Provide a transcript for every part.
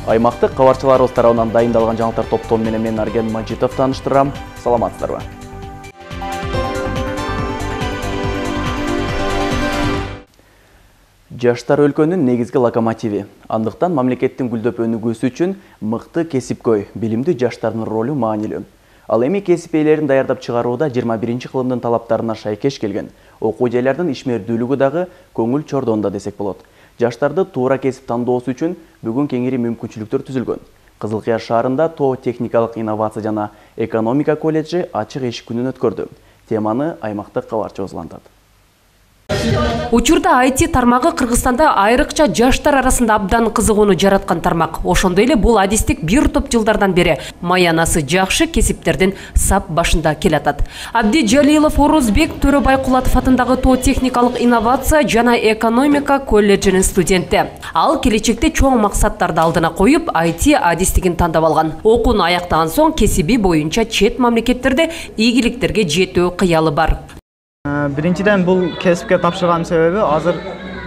Аймактык кабарчыларыбыз тарабынан дайындалган жаңылыктар топтому менен мен Арген Мажитов тааныштырам. Саламатсыздарбы? Жаштар өлкөнүн негизги локомотиви. Андыктан мамлекеттин гүлдөп өнүгүүсү үчүн мыкты кесипкөй, билимдүү жаштардын ролу маанилүү. Ал эми кесип ээлерин даярдап чыгарууда 21-кылымдын талаптарына шайкеш келген. Окуу жайлардын ишмердүүлүгү дагы көңүл чордоонда десек болот. Жаштарды туура кесип тандоосу үчүн бүгүн кеңири мүмкүнчүлүктөр түзүлгөн. Кызылкыя шаарында ТО техникалык инновация жана экономика колледжи ачык эшик күнүн өткөрдү. Теманы аймактык кабарчыбыз улантат. Учурда IT тармагы Кыргызстанда айрыкча жаштар арасында абдан кызыгууну жараткан тармак. Ошондой эле бул адистик бир топ жылдардан бери маянасы жакшы кесиптердин сап башында келатат. Абди Жалилов Орузбек Төрөбайкулатов атындагы ТО техникалык инновация жана экономика колледжинин студенти. Ал келечекте чоң максаттарды алдына коюп, IT адистигин тандап алган. Окууну аяктаган соң кесиби боюнча чет мамлекеттерде ийгиликтерге жетүү кыялы бар. Биринчиден бул кесипке тапшырган себеби азыр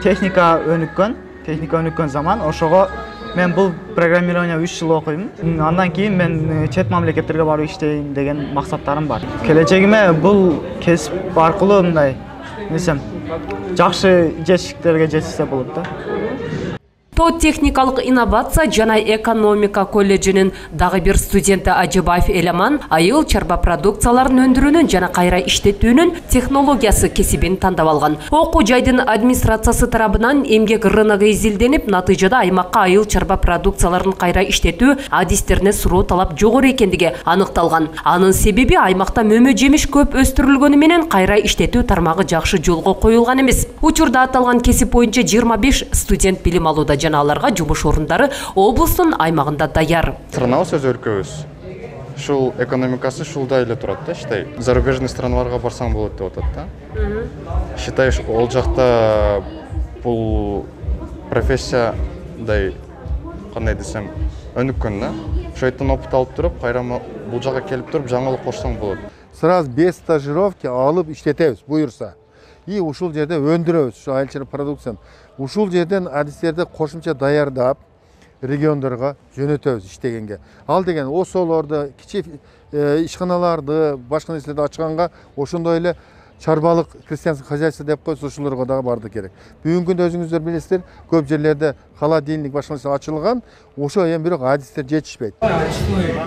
техника өнүккөн заман. Ошого мен бул программирование 3 жыл окуйм. Андан кийин мен чет мамлекеттерге барып иштейин деген максаттарым бар. Келечегиме бул кесип аркылуу мындай жакшы жетишиктерге жетсе болот да. ТО техникалык инновация жана экономика колледжинин дагы бир студенти Ажыбаев Эламан айыл чарба продукцияларын өндүрүүнүн жана кайра иштетүүнүн технологиясы кесибин тандап алган. Окуу жайдын администрациясы тарабынан эмгек рыногу изилденип, натыйжада аймакка айыл чарба продукцияларын кайра иштетүү адистерине суроо талап жогору экендиги аныкталган. Анын себеби аймакта мөмө жемиш көп өстүрүлгөнү менен кайра иштетүү тармагы жакшы жолго коюлган эмес. Учурда аталган кесип боюнча 25 студент билим алууда жана аларга жумуш орундары облустун аймагында даяр. Странабыз өз өлкөбүз. Ушул экономикасы ушулда эле турат да, считай. Зарубежный страналарга барсаң болот деп атат да. Считай, ол жакта бул профессиядай кандай десем, өнүккөн да. Ошойтон опыт алып туруп, кайра бул жакка келип туруп жаңылык кошсоң болот. Сразу без стажировки алып иштетебиз, буюрса. И ушул жерде өндүрөбүз, ушу айыл чарба продукцияны. Ушул жерден адистерди кошумча даярдап, региондорго жөнөтөбүз иштегенге. Ал деген осолорду, кичи ишканаларды, башка нерселерди ачканга ошондой эле чарбалык крестьянский хозяйство деп койсо ушуларга дагы барды керек. Бүгүнкү күндө өзүңүздөр билесиздер, көп жерлерде холодильник башка нерсе ачылган, ошо эми бирок адистер жетишпейт.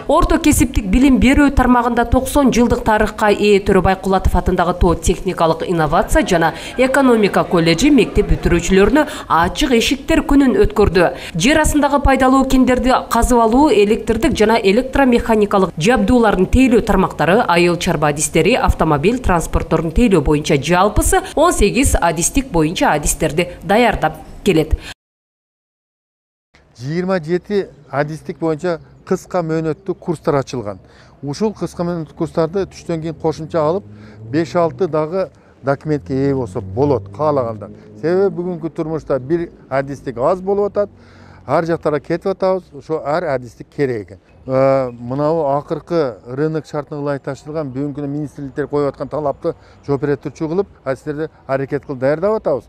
Орто кесиптик билим берүү тармагында 90 жылдык тарыхка ээ Төрөбайкулатов атындагы ТО техникалык инновация жана экономика колледжи мектеп бүтүрүүчүлөрүнө ачык эшиктер күнүн өткөрдү. Жер астындагы пайдалуу кендерди казып алуу, электрдик жана электромеханикалык жабдуулардын тейлөө тармактары, айыл чарба адистери, автомобиль транспортторун тейлөө боюнча жалпысы 18 адистик боюнча адистерди даярдап келет. 27 адистик боюнча кыска мөөнөттүү курстар ачылган. Ушул кыска мөөнөттүү курстарды түштөн кийин кошумча алып, 5-6 дагы документке ээ болсо болот, каалаганда. Себеби бүгүнкү турмушта бир адистик аз болуп атат, ар жактарга кетип атабыз, ошо ар адистик керек экен. Мынау акыркы рынок шартына ылайык таштырылган бүгүнкү күндө министрликтер коюп аткан талапты жооп бере турчу кылып, адистерди аракет кылып даярдап атабыз.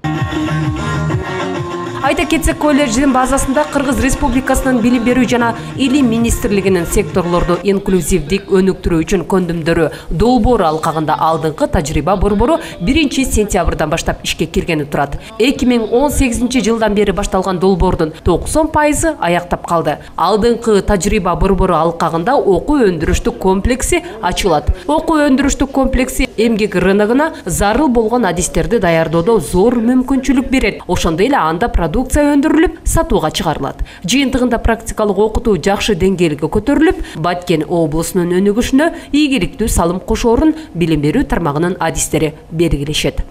Айта кетсек, колледждин базасында Кыргыз Республикасынын билим берүү жана илим министрлигинин секторлорду инклюзивдик өнүктүрүү үчүн көндүмдөрү долбоору алкагында алдыңкы тажрыйба борбору 1-сентябрдан баштап ишке киргени турат. 2018 жылдан бери башталган долбоордун 90% аяктап калды. Алдыңкы тажрыйба борбору алкагында окуу өндүрүштүк комплекси ачылат. Окуу өндүрүштүк комплекси эмгек рыногуна зарыл болгон адистерди даярдоодо зор мүмкүнчүлүк берет. Ошондой эле анда продукция өндүрүлүп, сатууга чыгарылат. Жыйынтыгында практикалык окутуу жакшы деңгээлге көтөрүлүп, Баткен облусунун өнүгүшүнө ийгиликтүү салым кошоорун билим берүү тармагынын адистери белгилешет.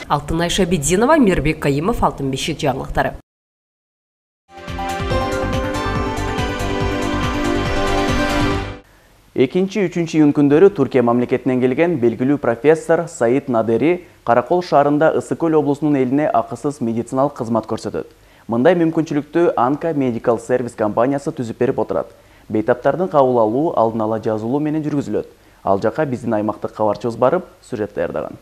Алтынай Шабидинова, Мирбек Кайымов, Алтын бешик жаңылыктары. Экинчи, үчүнчү июнь күндөрү Түркия мамлекетинен келген белгилүү профессор Саид Надери Каракол шаарында Ысык Көл облусунун элине акысыз медициналык кызмат көрсөтөт. Мындай мүмкүнчүлүктү Анка Medical Service компаниясы түзүп берип отурат. Бейтаптардын кабыл алуу алдын ала жазылуу менен жүргүзүлөт. Ал жака биздин аймактык кабарчыбыз барып, сюжет даярдаган.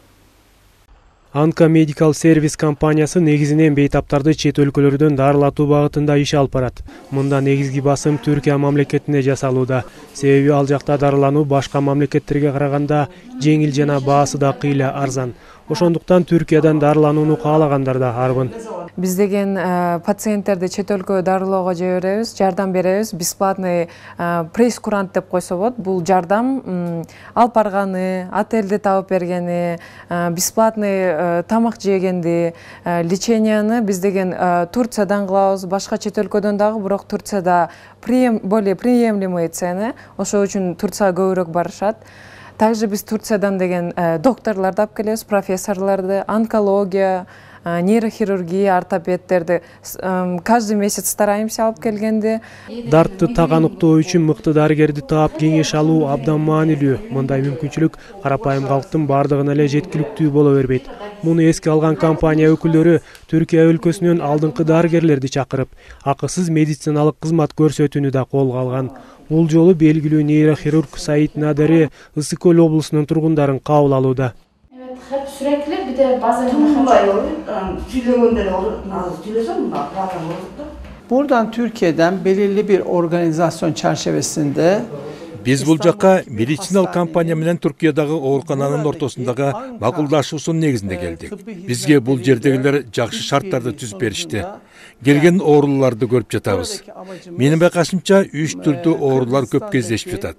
Анка Medical Service компаниясы негизинен бейтаптарды чет өлкөлөрдөн дарылатуу багытында иш алып барат. Мында негизги басым Түркия мамлекетине жасалууда. Себеби ал жакта дарылануу башка мамлекеттерге караганда жеңил жана баасы да кыйла арзан. Ошондуктан Түркиядан дарыланууну каалагандар да арбын. Биз деген пациенттерди чет өлкөгө дарылоого жиберебиз, жардам беребиз. Бесплатный прейскурант деп койсо болот. Бул жардам алып барганы, отельди табып бергени, бесплатный тамак жегенди, леченияны биз деген Турциядан кылабыз, башка чет өлкөдөн дагы, бирок Турцияда более приемлемые цены, ошол үчүн Турцияга көбүрөөк барышат. Также биз Турциядан деген докторлорду алып келебиз, профессорлорду, онкология, нейрохирургия, ортопедтерди каждый месяц стараемся алып келгенди. Дартты тагануктоо үчүн мыкты дарыгерди таап кеңеш алуу абдан маанилүү. Мындай мүмкүнчүлүк карапайым калктын бардыгына эле жеткиликтүү боло бербейт. Муну эске алган компания өкүлдөрү Түркия өлкөсүнөн алдыңкы дарыгерлерди чакырып, акысыз медициналык кызмат көрсөтүүнү да колго алган. Бул жолу белгилүү нейрохирург Саид Надари Ысык-Көл облусунун тургундарын кабыл алууда. Hep sürekli bir de bazen Buradan Türkiye'den belirli bir organizasyon çerçevesinde Биз бул жакка медициналык компания менен Түркиядагы оорукананын ортосундагы макулдашуусунун негизинде келдик. Бизге бул жердегилер жакшы шарттарды түзүп беришти. Келген ооруларды көрүп жатабыз. Менин байкашымча 3 түрдүү оорулар көп кездешип жатат.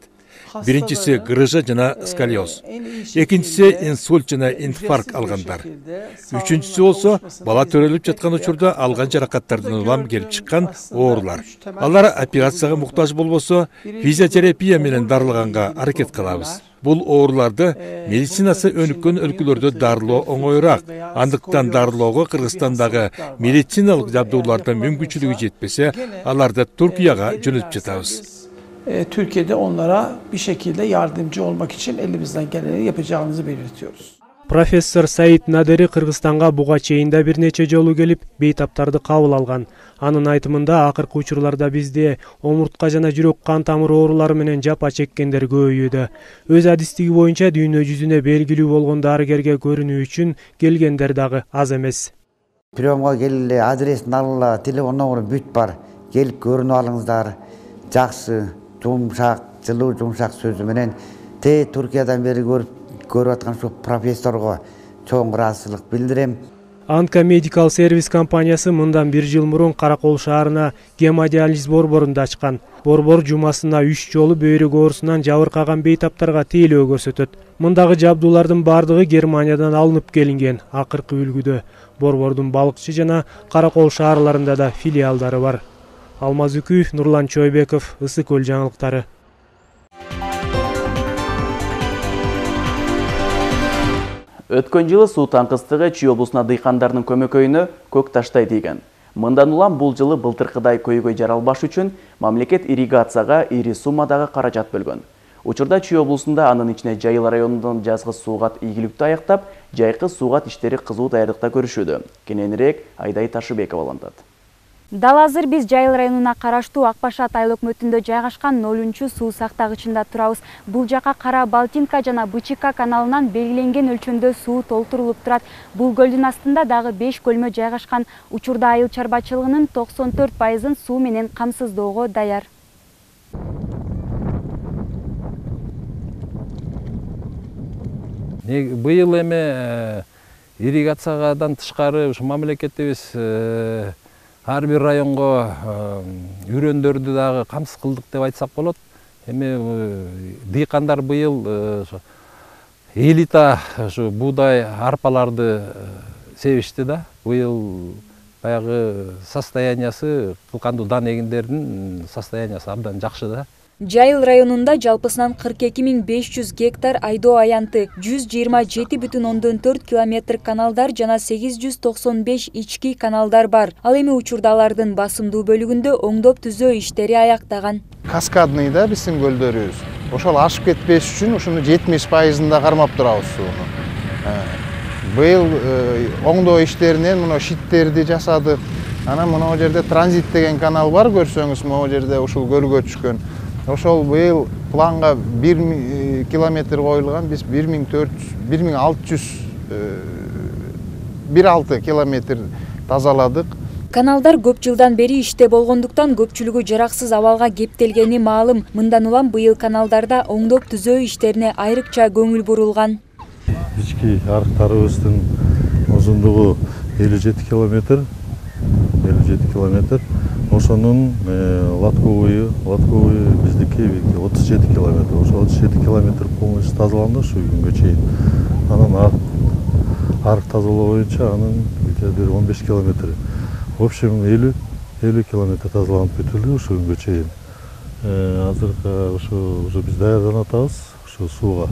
Биринчиси грыжа жана сколиоз. Экинчиси инсульт жана инфаркт алгандар. Үчүнчүсү болсо бала төрөлүп жаткан учурда алган жаракаттардан улам келип чыккан оорулар. Алар операцияга муктаж болбосо физиотерапия менен дарылаганга аракет кылабыз. Бул ооруларды медицинасы өнүккөн өлкөлөрдө дарылоо оңоюраак. Андыктан дарылоого Кыргызстандагы медициналык жабдуулардын мүмкүнчүлүгү жетпесе, аларды Türkiye'ga жөнөтүп жатабыз. Türkiye'de onlara bir şekilde yardımcı olmak için elimizden geleni yapacağımızı belirtiyoruz. Professor Саид Надари Кыргызстанга буга чейин да бир нече жолу келип, бейтаптарды кабыл алган. Анын айтымында акыркы учурларда бизде омуртка жана жүрөк кан тамыр оорулары менен жапа чеккендер көбөйүүдө. Өз адистиги боюнча дүйнө жүзүнө белгилүү болгон дарыгерге көрүнүү үчүн келгендер дагы аз эмес. Приемга келгиле, адресин алгыла, телефон номеру бүт бар. Келип көрүнүп алыңыздар. Жакшы, жумшак, жылуу жумшак сөзү менен Түркиядан бери көрүп аткан ошо профессорго чоң ыраазычылык билдирем. Анка Medical Service компаниясы мындан 1 жыл мурун Каракол шаарына гемодиализ борборун ачкан. Борбор жумасына 3 жолу бөйрөк оорусунан жабыркаган бейтаптарга тейлөө көрсөтөт. Мындагы жабдуулардын бардыгы Германиядан алынып келинген. Акыркы үлгүдө борбордун Балыкчы жана Каракол шаарларында да филиалдары бар. Алмаз Үкүев, Нурлан Чойбеков, Ысык-Көл жаңылыктары. Өткөн жылы суу таңкыстыгы Чүй облусуна дыйкандарынын көмөкөйүнө көк таштай тийген. Мындан улам бул жылы былтыркыдай көйгөй жаралбаш үчүн мамлекет ирригацияга ири суммадагы каражат бөлгөн. Учурда Чүй облусунда анын ичине Жайыл районунун жазгы суугат ийгиликтүү аяктап, жайкы суугат иштери кызуу даярдыкта көрүшүүдө. Кененирээк Айдай Ташыбекова алантат. Дал азыр биз Жайыл районуна караштуу Акбашат айыл өкмөтүндө жайгашкан 0-чу суу сактагычында турабыз. Бул жака Кара Балтинка жана Бычыка каналынан белгиленген өлчөмдө суу толтурулуп турат. Бул көлдүн астында дагы 5 көлмө жайгашкан. Учурда айыл чарбачылыгынын 94% суу менен камсыздоого даяр. Быйыл эме ирригациядан тышкары ушу мамлекетибиз ар бир районго үрөндөрдү дагы камсыз кылдык деп айтсак болот. Эми дыйкандар быйыл элита ушу буудай арпаларды себишти да. Быйыл баягы состояниясы кылкандуу дан эгиндердин состояниясы абдан жакшы да. Жайыл районунда жалпысынан 42.500 гектар айдоо аянты, 127,4 километр каналдар жана 895 ички каналдар бар. Ал эми учурда алардын басымдуу бөлүгүндө оңдоп түзөө иштери аяктаган. Каскадный да биздин көлдөрүбүз. Ошол ашып кетпеш үчүн ушуну 70%-ында кармап турабыз сууну. Быйыл оңдоо иштеринен мына шиттерди жасадык. Анан мына жерде транзит деген канал бар, көрсөңүз, могу жерде ушул көлгө түшкөн. Ошол быйыл планга 1 километр коюлган, биз 1600 1,6 километр тазаладык. Каналдар көп жылдан бери иште болгондуктан көпчүлүгү жараксыз абалга кептелгени маалым. Мындан улам быйыл каналдарда оңдоп түзөө иштерине айрыкча көңүл бурулган. Ички арыктарыбыздын узундугу 57 километр. Ошонун латковый биздики 37 километр. Ошо 37 километр полностью тазаланды ушу күнгө чейин. Анан арык тазалоо боюнча анын бир 15 километр. В общем 50 километр тазаланып бүтүлдү ушу күнгө чейин. Азыр ушу биз даярданып атабыз ушу сууга,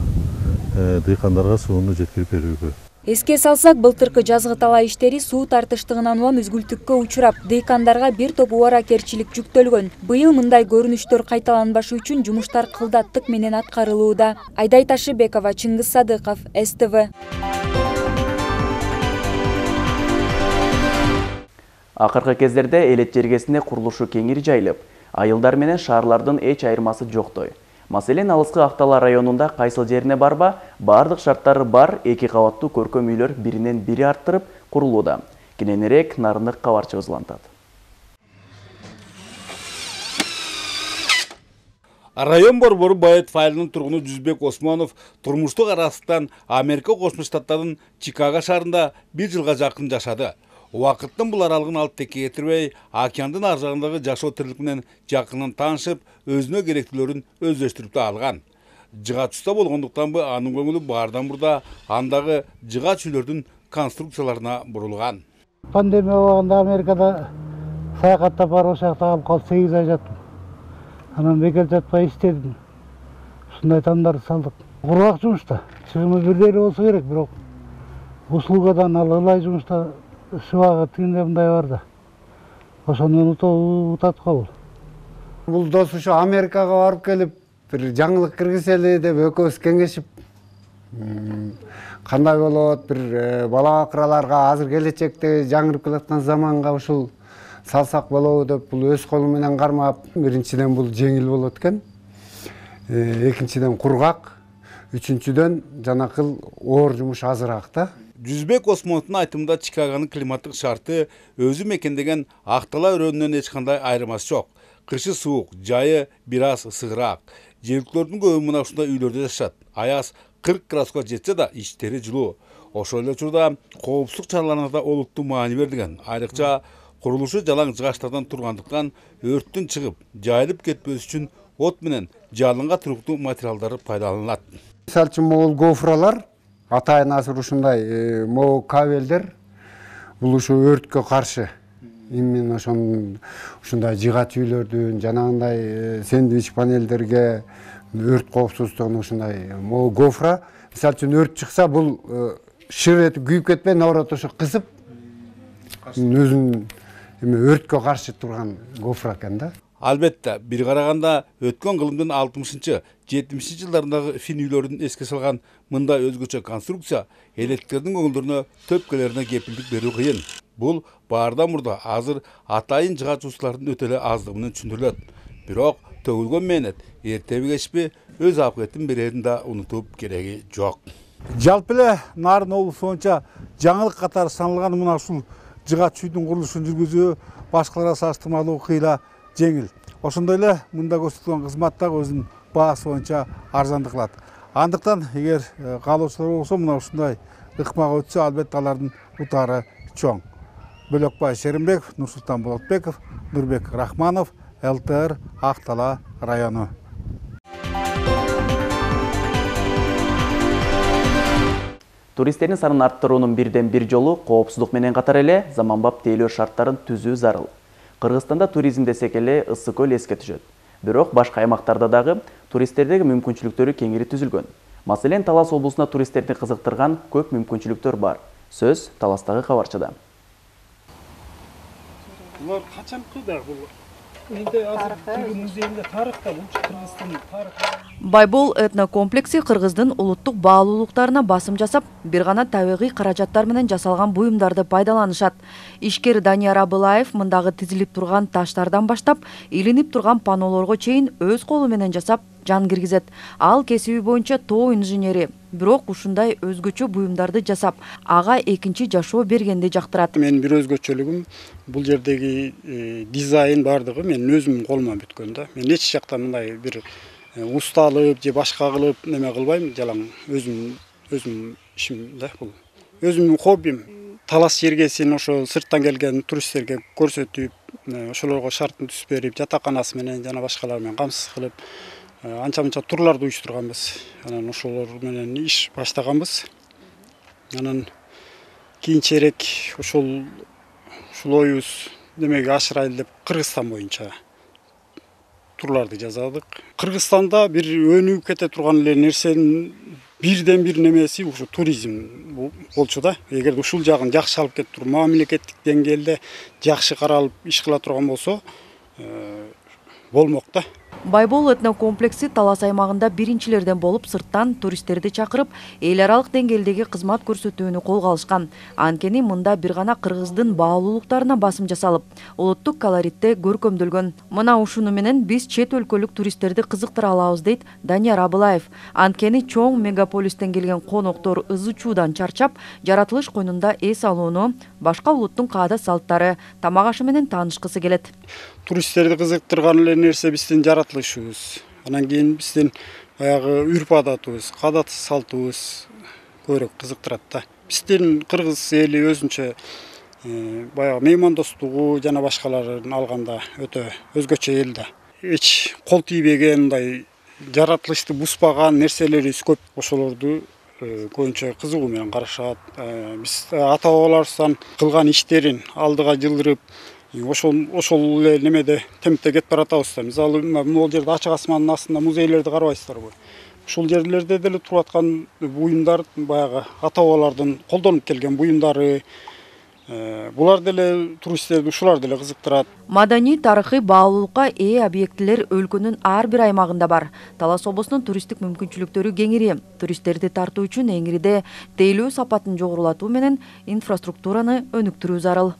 дыйкандарга сууну жеткирип берүүгө. Эске салсак, былтыркы жазгы талаа иштери суу тартыштыгынан улам үзгүлтүккө учурап, дыйкандарга бир топ убаракерчилик жүктөлгөн. Быйыл мындай көрүнүштөр кайталанбашы үчүн жумуштар кылдаттык менен аткарылууда. Айдай Ташыбекова, Чыңгыз Садыков, СТВ. Акыркы кездерде элет жергесине курулушу кеңири жайылып, айылдар менен шаарлардын эч айырмасы жоктой. Маселен, алыскы Актала районунда кайсыл жерине барба, бардык шарттары бар 2 кабаттуу көркөм үйлөр биринен бири арттырып курулууда. Кененирээк Нарындык кабарчыбыз улантат. Район борбору Байет айылынын тургуну Жүзбек Осмонов турмуштук арастан Америка Кошмо Штаттарынын Чикаго шаарында 1 жылга жакын жашады. Убакыттын бул аралыгын алып текке кетирбей, океандын ар жагындагы жашоо тирлик менен жакынын таанышып, өзүнө керектүүлөрүн өздөштүрүп алган. Жыгач уста болгондуктан анын көңүлү баардан мурда андагы жыгач үйлөрдүн конструкцияларына бурулган. Пандемия убагында Америкада саякаттап барып, ошол жакта калып калып 8 ай жаттым. Анан бекер жатпай иштедим. Ушундай тамдарды салдык. Кургак жумушта, чыгымы бирдей эле болсо керек, бирок услугадан ылай жумушта шыбагы тигинде мындай бар да. Ошону утат кабыл. Бул дос ушу Америкага барып келип, бир жаңылык киргизели деп экөөбүз кеңешип, кандай болот, бир бала бакыраларга азыр келечекте жаңырып келаткан заманга ушул салсак болобу деп бул өз колу менен кармап, биринчиден бул жеңил болот экен. Экинчиден кургак, үчүнчүдөн жанакыл оор жумуш азыраак да. Жүзбек Осмоновдун айтымында Чикагонун климаттык шарты өзү мекендеген Актала өрөөнүнөн эч кандай айырмасы жок. Кышы суук, жайы бир аз ысыгыраак. Жергиликтөрдүн көбү мына ушундай үйлөрдө жашашат. Аяз 40 градуска жетсе да иштери жылуу. Ошол эле учурда коопсуздук чараларына да олуттуу маани берилген. Айрыкча курулушу жалаң жыгачтардан тургандыктан өрттүн чыгып, жайылып кетпеш үчүн от менен жалынга туруктуу материалдар пайдаланылат. Мисалы үчүн могул гофралар атайын азыр ушундай могу кабелдер бул ушу өрткө каршы именно ушундай жыгач үйлөрдүн жанагындай сэндвич панелдерге өрт коопсуздугуна ушундай могу гофра. Мисалы үчүн өрт чыкса бул шыр этип күйүп кетпей, наоборот ошо кысып өзүнүн өрткө каршы турган гофра экен да. Албетте, бир караганда өткөн кылымдын 60-70 жылдарындагы фин үйлөрүн эске салган мындай өзгөчө конструкция электиктердин көңүлдөрүнө төпкөлөрүнө кепилдик берүү кыйын. Бул баардан мурда азыр атайын жыгач устулардын өтө эле аздыгы менен түшүндүрүлөт. Бирок төгүлгөн мээнет эртеби кечпи өз акыбетін берерин да унутуп кереги жок. Жалпы эле Нарын облусу боюнча жаңылык катары саналган мына ушул жыгач үйдүн курулушун жүргүзүү башкаларга салыштырмалуу кыйла жеңил. Ошондой эле мында көрсөтүлгөн кызмат дагы өзүнүн баасы боюнча арзандык кылат. Андыктан эгер каалоочулар болсо мына ушундай ыкмак өтсө, албетте алардын утаары чоң. Бөлөкбай Шеримбеков, Нурсултан Болотбеков, Нурбек Рахманов, ЛТР, Актала району. Туристтердин санын арттыруунун бирден бир жолу коопсуздук менен катар эле заманбап тейлөө шарттарын түзүү зарыл. Кыргызстанда туризм десек эле Ысык көл эске түшөт. Бирок башка аймактарда дагы туристтердеги мүмкүнчүлүктөрү кеңири түзүлгөн. Маселен, Талас облусуна туристтерди кызыктырган көп мүмкүнчүлүктөр бар. Сөз Таластагы кабарчыда. Булар качанкы да бул музейинде тарыхта Кыргыздын тарыхы. Байбол этнокомплекси Кыргыздын улуттук баалуулуктарына басым жасап, бир гана табигый каражаттар менен жасалган буюмдарды пайдаланышат. Ишкер Данияр Абылаев мындагы тизилип турган таштардан баштап, илинип турган панолорго чейин өз колу менен жасап, жан киргизет. Ал кесиби боюнча тоо инженери. Бирок ушундай өзгөчө буюмдарды жасап, ага экинчи жашоо бергенди жактырат. Менин бир өзгөчөлүгүм бул жердеги дизайн бардыгы менин өзүмдүн колуман бүткөн да. Мен эч жакта мындай бир усталып же башка кылып неме кылбайм, жалаң өзүм ишим да бул. Өзүмдүн хоббим. Талас жергесин ошо сырттан келген туристтерге көрсөтүп, ошолорго шартын түзүп берип, жатаканасы менен жана башкалар менен камсыз кылып, анча-мынча турларды уюштурганбыз. Анан ошолор менен иш баштаганбыз. Анан кийинчерээк ушул оюбуз немеге ашырайлы деп Кыргызстан боюнча турларды жасадык. Кыргызстанда бир өнүгүп кете турган эле нерсенин бирден бир немеси ушу туризм болчу да. Эгерде ушул жагын жакшы алып кетип туруп, мамлекеттик деңгээлде жакшы каралып иш кыла турган болсо, болмок да. Байбол этнокомплекси Талас аймагында биринчилерден болуп сырттан туристтерди чакырып, эл аралык деңгээлдеги кызмат көрсөтүүнү колго алышкан. Анткени мында бир гана кыргыздын баалуулуктарына басым жасалып, улуттук колоритте көркөмдөлгөн. Мына ушуну менен биз чет өлкөлүк туристтерди кызыктыра алабыз дейт Данияр Абылаев. Анткени чоң мегаполистен келген коноктор ызы чуудан чарчап, жаратылыш койнунда эс алууну, башка улуттун каада салттары, тамак ашы менен таанышкысы келет. Туристтерди кызыктырган эле нерсе биздин жаратылышыбыз. Анан кийин биздин баягы үрп-адатыбыз, каада салтыбыз көбүрөөк кызыктырат да. Биздин кыргыз эли өзүнчө баягы меймандостугу жана башкаларын алганда өтө өзгөчө эл да. Эч кол тийбеген, мындай жаратылышты бузбаган нерселерибиз көп. Ошолорду көбүнчө кызыгуу менен карашат. Биз ата-бабаларыбыздан кылган иштерин алдыга жылдырып, ошол эле немеде темпте кетип баратабыз да. Мисалы, могул жерде ачык асмандын астында музейлерди карабайсыздарбы? Ушул жерлерде деле туруп аткан буюмдар баягы ата-бабалардын колдонуп келген буюмдары. Булар деле туристтерди ушулар деле кызыктырат. Маданий тарыхый баалуулукка ээ объектилер өлкөнүн ар бир аймагында бар. Талас облусунун туристтик мүмкүнчүлүктөрү кеңири. Туристтерди тартуу үчүн эңириде тейлөө сапатын жогорулатуу менен инфраструктураны өнүктүрүү зарыл.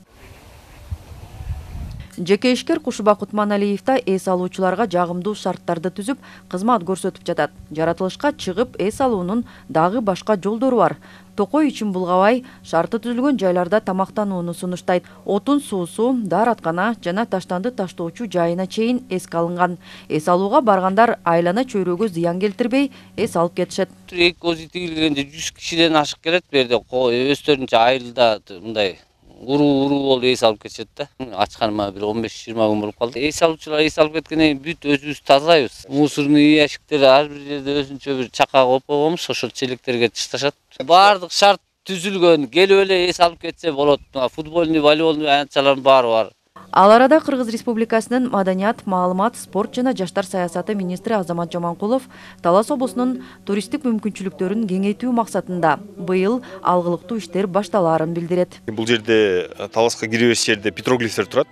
Жеке ишкер Кушубак Утманалиев да эс алуучуларга жагымдуу шарттарды түзүп, кызмат көрсөтүп жатат. Жаратылышка чыгып эс алуунун дагы башка жолдору бар. Токой үчүн булгабай, шарты түзүлгөн жайларда тамактанууну сунуштайт. Отун суусу, даараткана жана таштанды таштоочу жайына чейин эске алынган. Эс алууга баргандар айлана чөйрөгө зыян келтирбей эс алып кетишет. Эки көзү тигилгенде 100 кишиден ашык келет. Бу жерде өздөрүнчө айылда мындай уруу болуп эс алып кетишет да. Ачканыма бир 15-20 күн болуп калды. Эс алуучулар эс алып кеткенден кийин бүт өзүбүз тазалайбыз. Мусорный ящиктер ар бир жерде өзүнчө бир чака коюп койгонбуз, ошол челектерге ташташат. Баардык шарт түзүлгөн, келип эле эс алып кетсе болот. Футбольный, волейболный аянтчалардын баары бар. Ал арада Кыргыз Республикасынын Маданият, маалымат, спорт жана жаштар саясаты министри Азамат Жаманкулов Талас облусунун туристтик мүмкүнчүлүктөрүн кеңейтүү максатында быйыл алгылыктуу иштер башталаарын билдирет. Бул жерде Таласка киребес жерде петроглифтер турат.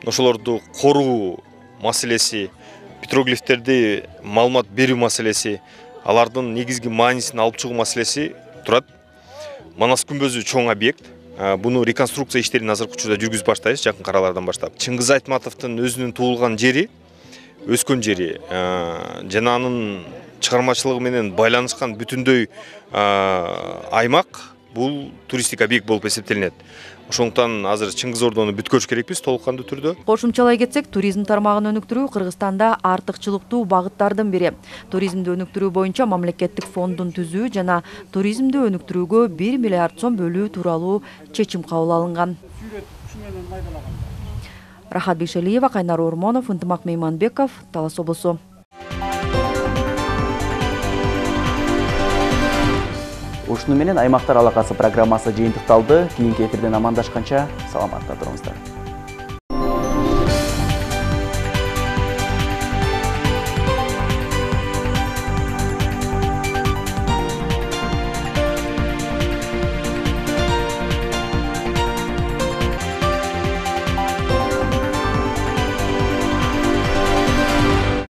Ошолорду коруу маселеси, петроглифтерди маалымат берүү маселеси, алардын негизги маанисин алып чыгуу маселеси турат. Манас күмбөзү чоң объект. Буну реконструкция иштерин азыркы учурда жүргүзүп баштайбыз, жакын аралардан баштап. Чыңгыз Айтматовдун өзүнүн туулган жери, өскөн жери жана анын чыгармачылыгы менен байланышкан бүтүндөй аймак бул туристтик объект болуп эсептелинет. Ошондуктан азыр Чыңгыз Ордону бүткөрүш керекпиз толуккандуу түрдө. Кошумчалай кетсек, туризм тармагын өнүктүрүү Кыргызстанда артыкчылыктуу багыттардын бири. Туризмди өнүктүрүү боюнча мамлекеттик фондун түзүү жана туризмди өнүктүрүүгө 1 миллиард сом бөлүү тууралуу чечим кабыл алынган. Рахат Бейшалиева, Кайнар Ормонов, Ынтымак Мейманбеков, Талас облусу. Ушуну менен аймактар алакасы программасы жыйынтыкталды. Кийинки эфирден амандашканча саламатта туруңуздар.